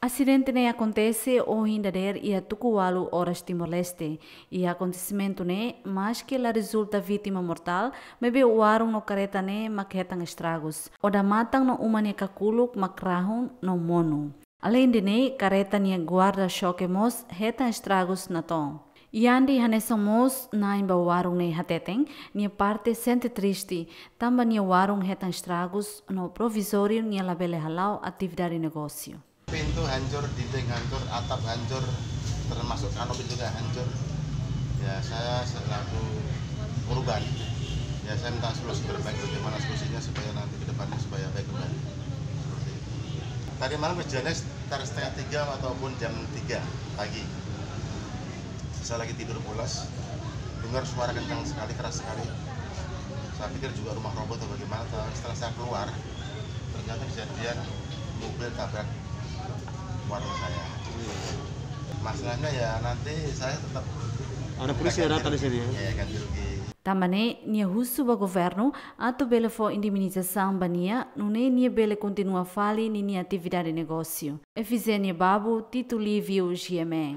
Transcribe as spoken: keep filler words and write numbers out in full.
Asidente ne'e akontese ohin dadeer iha tuku ualu oras Timor-Leste. Iha akontesimentu ne'e, maske la rezulta vítima mortál, maibé warung no kareta ne'e mak hetan estragus. Odamatan no uma nia kakuluk mak rahun no monu. Aleinde ne'e, kareta nia guarda-xoke mós hetan estragus natoon. Yandi hanesan mós na'in ba warung ne'e hateten, nia parte sente triste, tanba nia warung hetan estragus no provizóriu nia labele hala'o atividade negósiu. Pintu hancur, dinding hancur, atap hancur, termasuk kanopi juga hancur. Ya, saya selaku korban, ya, saya minta solusi terbaik, bagaimana solusinya supaya nanti ke depannya supaya baik kembali. Seperti itu. Tadi malam kejadiannya sekitar setengah tiga ataupun jam tiga pagi. Saya lagi tidur pulas, dengar suara kencang sekali, keras sekali. Saya pikir juga rumah roboh atau bagaimana. Setelah saya keluar, ternyata kejadian mobil tabrak warung saya. Masalahnya ya nanti saya tetap... Ada polisi yang datang di sini, ya? Ya, ganti rugi. Tanba ne'e, nia husu ba governu atu bele fó indemnizasaun ba nia, nune'e nia bele kontinua fali ninia atividade negósiu. Efizénia Babu, Tito Lívio, G M N.